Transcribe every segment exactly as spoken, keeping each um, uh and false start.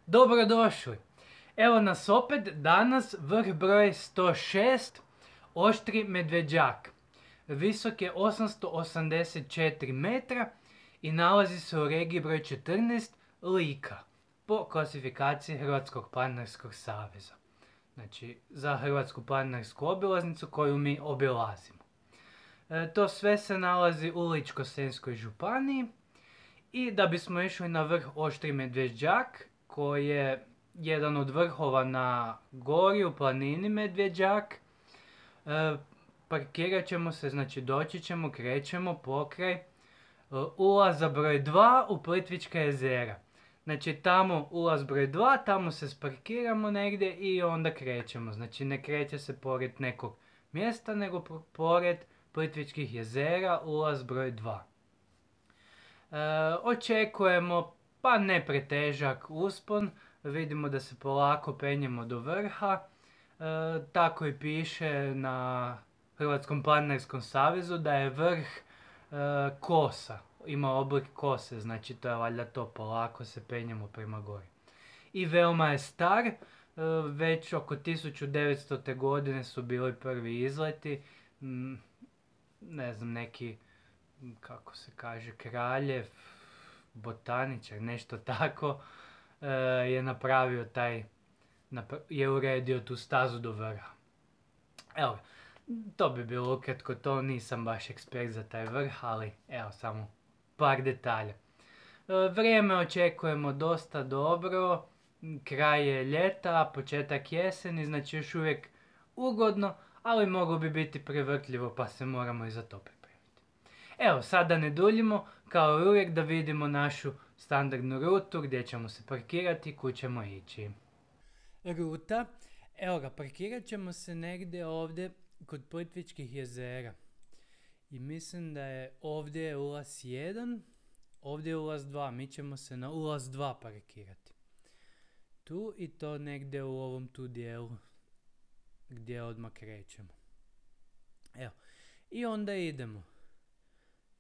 Dobrodošli! Evo nas opet, danas vrh broj sto šest, Oštri Medvedjak. Visok je osamsto osamdeset četiri metra i nalazi se u regiji broj četrnaest, Lika, po klasifikaciji Hrvatskog planinarskog saveza. Znači, za Hrvatsku planinarsku obilaznicu koju mi obilazimo. E, to sve se nalazi u Ličko-senjskoj županiji i da bismo išli na vrh Oštri Medvedjak, koji je jedan od vrhova na gori u planini Medvedjak, e, parkirat ćemo se, znači doći ćemo, krećemo pokraj e, ulaza broj dva u Plitvička jezera. Znači tamo ulaz broj dva, tamo se sparkiramo negdje i onda krećemo. Znači ne kreće se pored nekog mjesta, nego pored Plitvičkih jezera, ulaz broj dva. E, očekujemo pa ne pretežak uspon, vidimo da se polako penjemo do vrha, e, tako i piše na Hrvatskom planinarskom savezu da je vrh e, kosa, ima oblik kose, znači to je valjda to, polako se penjemo prema gori. I veoma je star, e, već oko tisuću devetstote. godine su bili prvi izleti, m, ne znam, neki, kako se kaže, kraljev, botaničar, nešto tako, e, je napravio taj, napra- je uredio tu stazu do vrha. Evo, to bi bilo ukratko to, nisam baš ekspert za taj vrh, ali evo samo par detalja. E, vrijeme očekujemo dosta dobro, kraj je ljeta, početak jeseni, znači još uvijek ugodno, ali moglo bi biti prevrtljivo pa se moramo i za to pripremiti. Evo, sada ne duljimo, kao i uvijek da vidimo našu standardnu rutu gdje ćemo se parkirati i kud ćemo ići. Ruta, evo ga, parkirat ćemo se negdje ovdje kod Plitvičkih jezera. I mislim da je ovdje ulaz jedan, ovdje je ulaz dva, mi ćemo se na ulaz dva parkirati. Tu i to negdje u ovom tu dijelu gdje odmah krećemo. Evo, i onda idemo.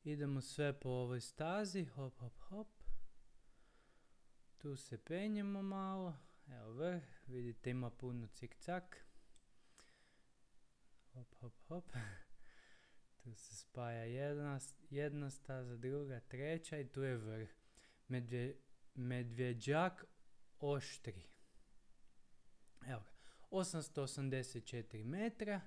Idemo sve po ovoj stazi, hop, hop, hop. Tu se penjemo malo, evo vrh, vidite ima puno cik-cak. Hop, hop, hop. Tu se spaja jedna, jedna staza, druga, treća i tu je vrh. Medvje, Medvedjak Oštri. Evo ga, osamsto osamdeset četiri metra.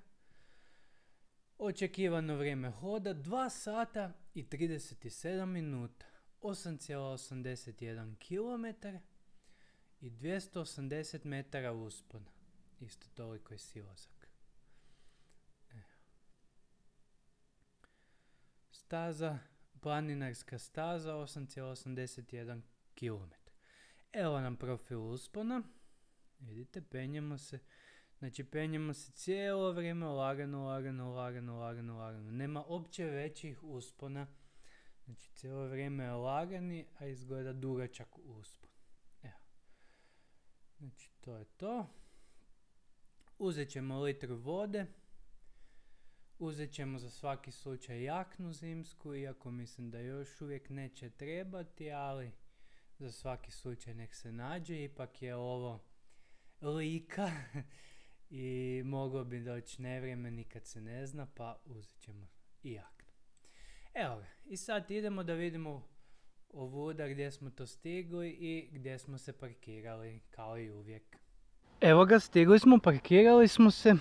Očekivano vrijeme hoda dva sata i trideset sedam minuta, osam zarez osamdeset jedan kilometar i dvjesto osamdeset metara uspona. Isto toliko je silazak. Evo. Staza, planinarska staza, osam zarez osamdeset jedan kilometar. Evo nam profil uspona. Vidite, penjemo se. Znači, penjemo se cijelo vrijeme lagano, lagano, lagano, lagano, lagano. Nema opće većih uspona. Znači, cijelo vrijeme je lagani, a izgleda dugačak uspon. Evo. Znači, to je to. Uzet ćemo litru vode. Uzet ćemo za svaki slučaj jaknu zimsku, iako mislim da još uvijek neće trebati, ali za svaki slučaj nek se nađe. Ipak je ovo Lika. I moglo bi doći nevrijeme, nikad se ne zna, pa uzet ćemo i jaknu. Evo ga, i sad idemo da vidimo ovuda gdje smo to stigli i gdje smo se parkirali, kao i uvijek. Evo ga, stigli smo, parkirali smo se.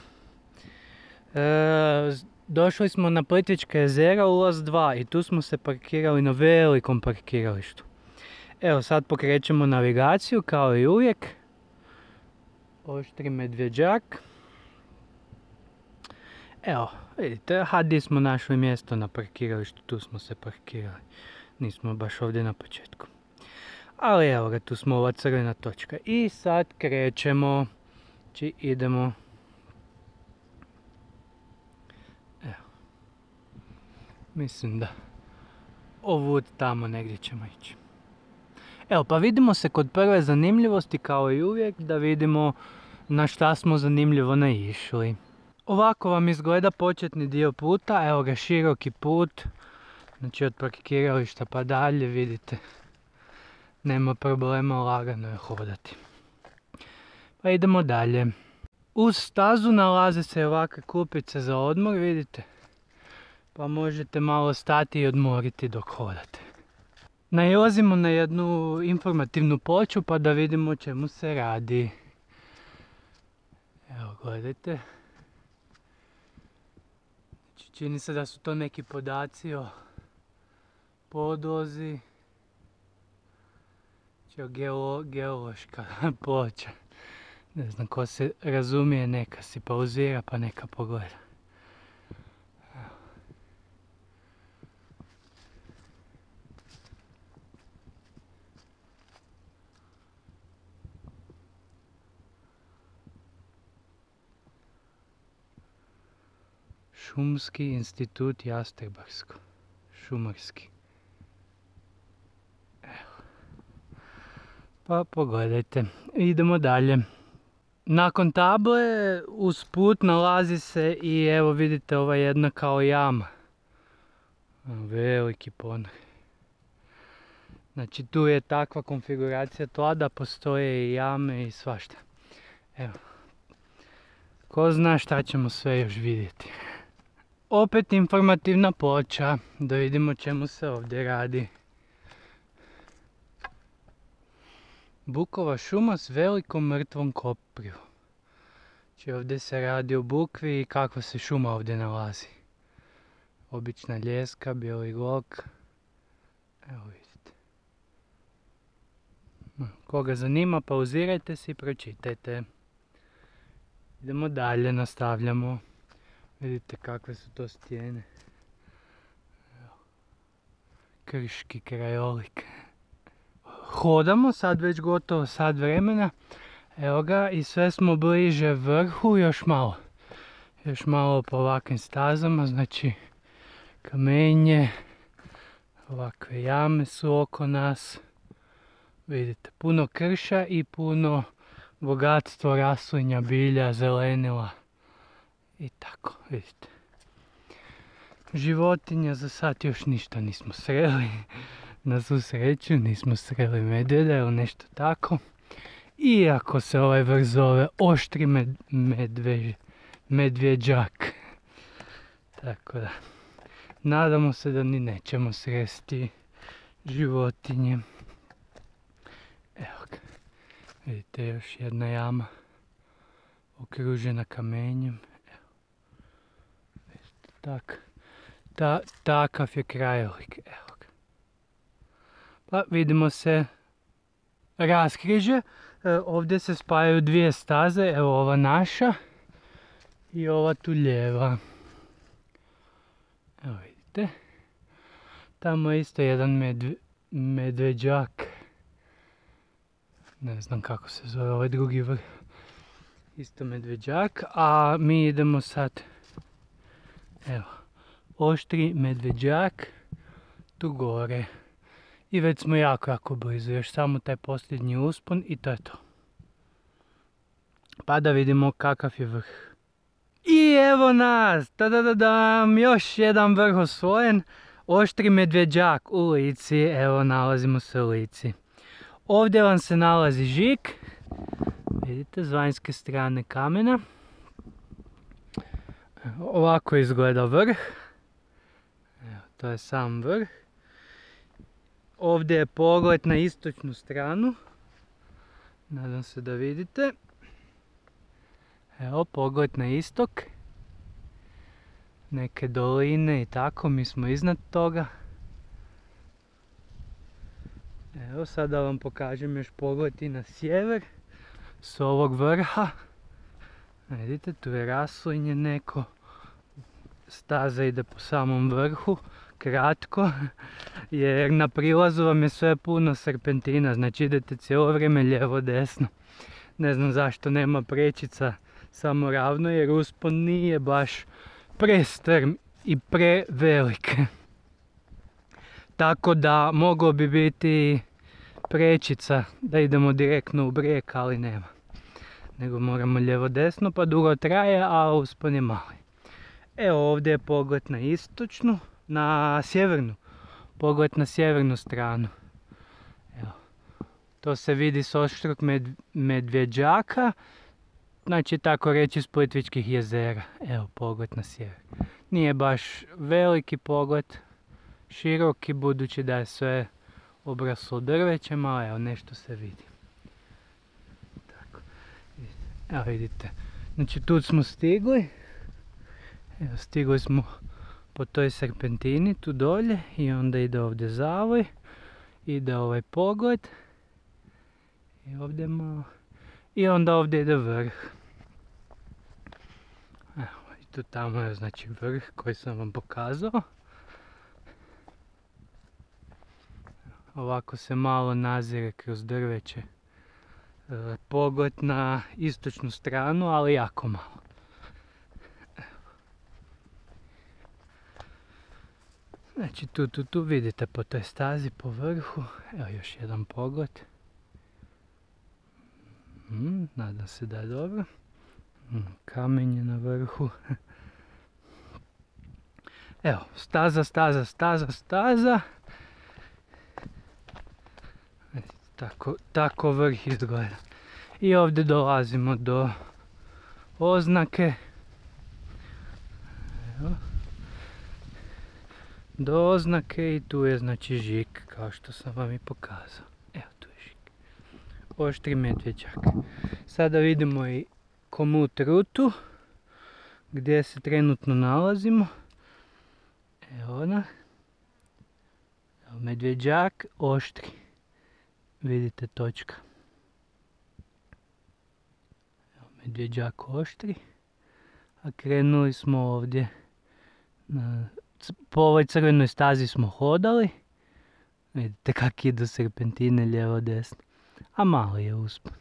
E, došli smo na Plitvička jezera, ulaz dva, i tu smo se parkirali na velikom parkiralištu. Evo, sad pokrećemo navigaciju, kao i uvijek. Oštri Medvedjak. Evo, vidite, a gdje smo našli mjesto na parkiralištu, tu smo se parkirali. Nismo baš ovdje na početku. Ali evo ga, tu smo ova crvena točka. I sad krećemo. Znači idemo. Evo. Mislim da ovud tamo negdje ćemo ići. Evo, pa vidimo se kod prve zanimljivosti, kao i uvijek, da vidimo na šta smo zanimljivo naišli. Ovako vam izgleda početni dio puta, evo ga, široki put, znači od parkirališta pa dalje, vidite, nema problema, lagano je hodati. Pa idemo dalje. Uz stazu nalaze se ovakve klupice za odmor, vidite. Pa možete malo stati i odmoriti dok hodate. Nailazimo na jednu informativnu ploču pa da vidimo o čemu se radi. Evo, gledajte. Znači, čini se da su to neki podaci o podlozi. Znači, geolo, geološka ploča. Ne znam ko se razumije, neka si pauzira pa neka pogleda. Šumski institut Jastrebarsko. Šumarski. Evo. Pa pogledajte. Idemo dalje. Nakon table uz put nalazi se i evo vidite ova jedna kao jama. Veliki ponor. Znači tu je takva konfiguracija tla da postoje i jame i svašta. Evo. Ko zna šta ćemo sve još vidjeti. Opet informativna ploča, da vidimo čemu se ovdje radi. Bukova šuma s velikom mrtvom koprivom. Znači ovdje se radi o bukvi i kakva se šuma ovdje nalazi. Obična ljeska, bijeli log. Evo vidite. Koga zanima, pauzirajte se i pročitajte. Idemo dalje, nastavljamo. Vidite kakve su to stijene. Evo. Krški krajolik. Hodamo sad već gotovo sat vremena. Evo ga i sve smo bliže vrhu, još malo. Još malo po ovakvim stazama, znači kamenje, ovakve jame su oko nas. Vidite, puno krša i puno bogatstvo raslinja, bilja, zelenila. I tako, vidite. Životinja za sad još ništa nismo sreli. Na svu sreću nismo sreli medvjeda ili nešto tako. Iako se ovaj vrh zove oštri med, medvež, medvjeđak. Tako da, nadamo se da ni nećemo sresti životinje. Evo ga, vidite još jedna jama okružena kamenjem. Evo, vidite, tak, ta, takav je krajolik. Evo ga. Pa vidimo se raskrižje. E, ovdje se spajaju dvije staze, evo ova naša i ova tu lijeva. Evo vidite. Tamo je isto jedan medve, medveđak. Ne znam kako se zove ovaj drugi vrh. Isto medveđak, a mi idemo sad. Evo, oštri medveđak tu gore. I već smo jako, jako blizu, još samo taj posljednji uspon i to je to. Pa da vidimo kakav je vrh. I evo nas, tadadadam, još jedan vrh osvojen. Oštri medveđak u Lici, evo nalazimo se u Lici. Ovdje vam se nalazi žig, vidite, s vanjske strane kamena. Ovako izgleda vrh. Evo, to je sam vrh. Ovdje je pogled na istočnu stranu. Nadam se da vidite. Evo, pogled na istok. Neke doline i tako, mi smo iznad toga. Evo, sada vam pokažem još pogled i na sjever. S ovog vrha. Vidite, tu je raslinje neko. Staza ide po samom vrhu. Kratko, jer na prilazu vam je sve puno serpentina, znači idete cijelo vrijeme lijevo desno. Ne znam zašto nema prečica, samo ravno, jer uspon nije baš prestrm i prevelik. Tako da moglo bi biti prečica da idemo direktno u brijeg, ali nema. Nego moramo lijevo desno pa dugo traje, a uspon je mali. Evo ovdje je pogled na istočnu. Na sjevernu, pogled na sjevernu stranu. Evo, To se vidi s Oštrog med, Medvjeđaka, znači tako reći s Plitvičkih jezera. Evo pogled na sjever. Nije baš veliki pogled, široki budući da je sve obraslo drvećem, ali evo nešto se vidi. Tako. Evo vidite, znači tu smo stigli. Evo stigli smo po toj serpentini tu dolje i onda ide ovdje zavoj, ide ovaj pogled i ovdje malo i onda ovdje ide vrh. Evo i tu tamo je znači vrh koji sam vam pokazao. Ovako se malo nazire kroz drveće e, pogled na istočnu stranu, ali jako malo. Znači tu, tu, tu vidite po toj stazi po vrhu, evo još jedan pogled. Mm, nadam se da je dobro. Mm, kamenje na vrhu. Evo, staza, staza, staza, staza. Tako, tako vrh izgleda. I ovdje dolazimo do oznake. Evo. Do oznake i tu je znači Žik, kao što sam vam i pokazao. Evo tu je Žik. Oštri Medvjeđak. Sada vidimo i komut rutu gdje se trenutno nalazimo. Evo ona. Evo Medvjeđak, Oštri. Vidite točka. Evo Medvjeđak, Oštri. A krenuli smo ovdje. Na, po ovoj crvenoj stazi smo hodali. Vidite kak idu serpentine lijevo desno. A malo je uspon.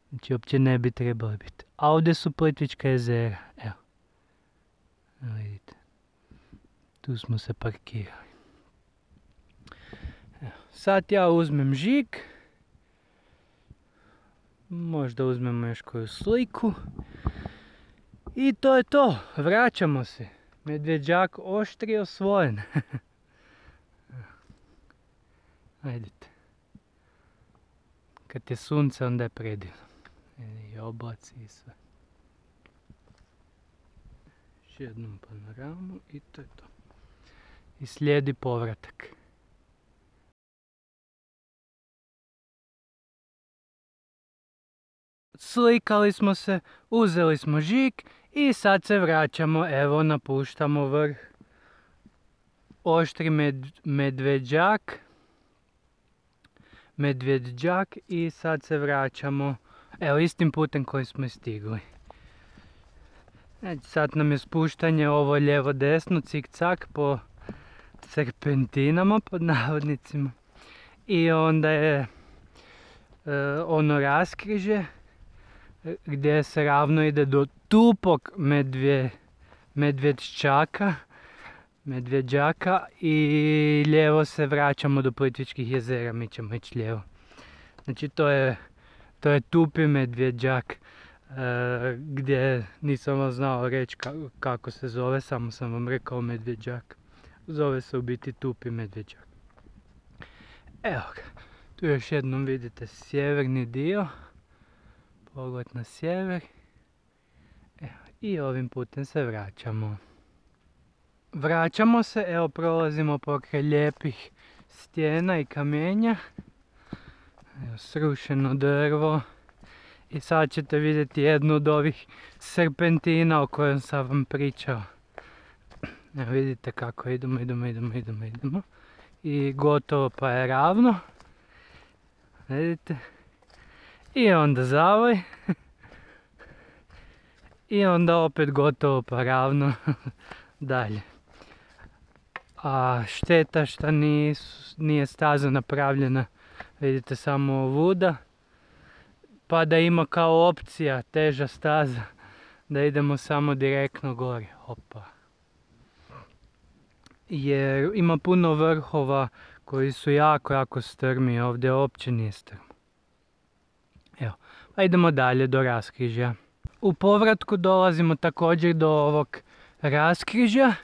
Znači uopće ne bi trebali biti. A ovdje su Plitvička jezera. Evo. Evo vidite. Tu smo se parkirali. Evo. Sad ja uzmem Žig. Možda uzmemo još koju sliku. I to je to. Vraćamo se. Medvjeđak Oštri osvojen. Ajdite. Kad je sunce onda je predivno. I oblaci i sve. Još jednom panoramu i to je to. I slijedi povratak. Slikali smo se, uzeli smo Žig i sad se vraćamo, evo napuštamo vrh Oštri med, Medvjeđak. Medvjeđak i sad se vraćamo, evo istim putem koji smo stigli. Znači, sad nam je spuštanje ovo lijevo desno, cik-cak po serpentinama pod navodnicima. I onda je e, ono raskrižje gdje se ravno ide do tupog medvje, Medvjeđaka, Medvjeđaka i lijevo se vraćamo do Plitvičkih jezera, mi ćemo ići lijevo. Znači to je, to je tupi Medvjeđak, e, gdje nisam vam znao reći kako, kako se zove, samo sam vam rekao Medvjeđak. Zove se u biti tupi Medvjeđak. Evo ga, tu još jednom vidite sjeverni dio. Pogled na sjever. Evo, i ovim putem se vraćamo. Vraćamo se, evo prolazimo pokraj lijepih stijena i kamenja. Evo, srušeno drvo. I sad ćete vidjeti jednu od ovih serpentina o kojem sam vam pričao. Evo vidite kako idemo, idemo, idemo, idemo, idemo. I gotovo pa je ravno. Vidite. I onda zavoj. I onda opet gotovo pa ravno dalje. A šteta što nije staza napravljena, vidite samo ovuda. Pa da ima kao opcija teža staza, da idemo samo direktno gore. Opa. Jer ima puno vrhova koji su jako, jako strmi, ovdje uopće nije strmo. Evo, pa idemo dalje do raskrižja. U povratku dolazimo također do ovog raskrižja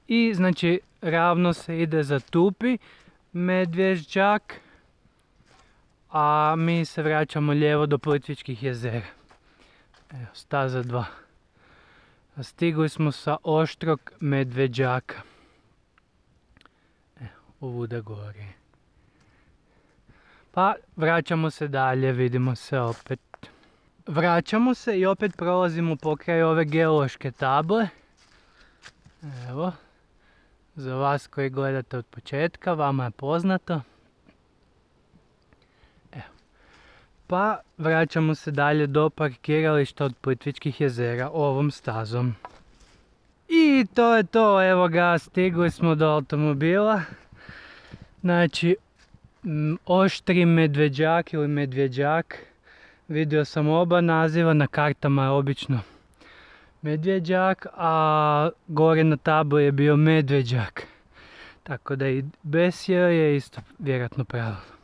i znači ravno se ide za tupi Medvjeđak a mi se vraćamo lijevo do Plitvičkih jezera. Evo, staza dva. Stigli smo sa Oštrog Medveđaka. Evo, ovuda gore. Pa vraćamo se dalje, vidimo se opet. Vraćamo se i opet prolazimo pokraj ove geološke table. Evo, za vas koji gledate od početka, vama je poznato. Evo. Pa vraćamo se dalje do parkirališta od Plitvičkih jezera ovom stazom. I to je to, evo ga, stigli smo do automobila. Znači, Oštri Medveđak ili Medvjeđak. Vidio sam oba naziva, na kartama je obično Medvjeđak, a gore na tabli je bio Medveđak. Tako da i bez je isto vjerojatno pravilno.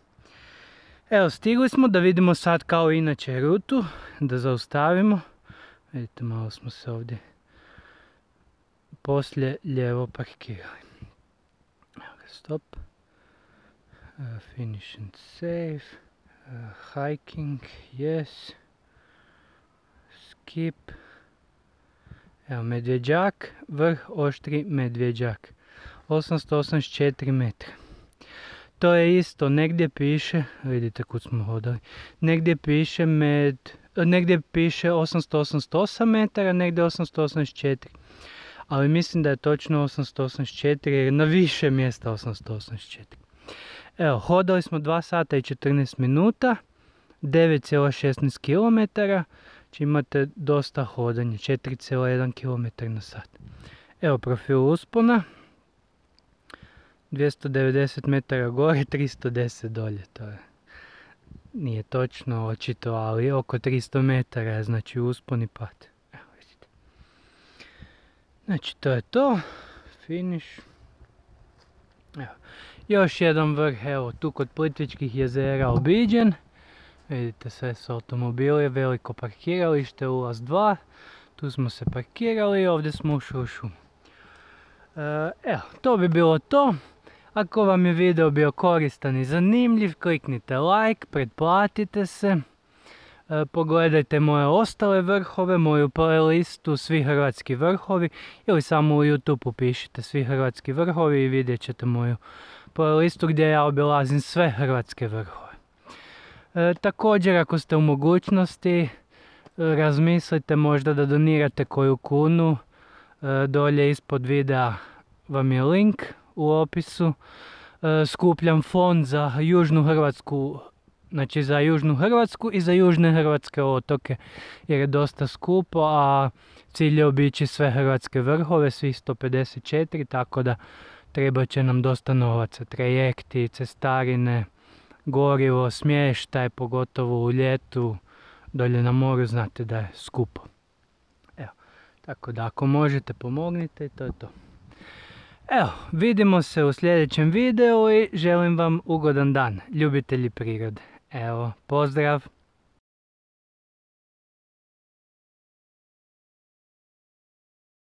Evo, stigli smo da vidimo sad kao inače rutu, da zaustavimo. Vidite, malo smo se ovdje poslije lijevo parkirali. Evo ga, stop. Uh, finish and save. Uh, hiking, yes. Skip. Evo, Medvjeđak, vrh Oštri Medvjeđak. osamsto osamdeset četiri metra. To je isto, negdje piše, vidite kud smo hodali, negdje piše med, negdje piše osamsto osamdeset osam metara, negdje osamsto osamdeset četiri. Ali mislim da je točno osamsto osamdeset četiri jer na više mjesta osamsto osamdeset četiri. Evo, hodali smo dva sata i četrnaest minuta, devet zarez šesnaest kilometara, znači imate dosta hodanja, četiri zarez jedan kilometar na sat. Evo profil uspona, dvjesto devedeset metara gore, tristo deset dolje, to je, nije točno očito, ali oko tristo metara je, znači uspon i pad. Evo vidite. Znači to je to, finish. Evo. Još jedan vrh, evo tu kod Plitvičkih jezera obiđen. Vidite, sve su automobili, veliko parkiralište, ulaz dva. Tu smo se parkirali i ovdje smo ušli u šumu. Evo, to bi bilo to. Ako vam je video bio koristan i zanimljiv, kliknite like, pretplatite se. Pogledajte moje ostale vrhove, moju playlistu Svi hrvatski vrhovi ili samo u YouTube upišite Svi hrvatski vrhovi i vidjet ćete moju playlistu gdje ja obilazim sve hrvatske vrhove. E, također, ako ste u mogućnosti, razmislite možda da donirate koju kunu. E, dolje ispod videa vam je link u opisu. E, skupljam fond za Južnu Hrvatsku, znači za Južnu Hrvatsku i za južne hrvatske otoke, jer je dosta skupo, a cilj je obići sve hrvatske vrhove, svih sto pedeset četiri, tako da treba će nam dosta novaca, trajekti, cestarine, gorivo, smještaj, pogotovo u ljetu, dolje na moru znate da je skupo. Evo, tako da ako možete pomognite i to je to. Evo, vidimo se u sljedećem videu i želim vam ugodan dan, ljubitelji prirode. Evo, pozdrav!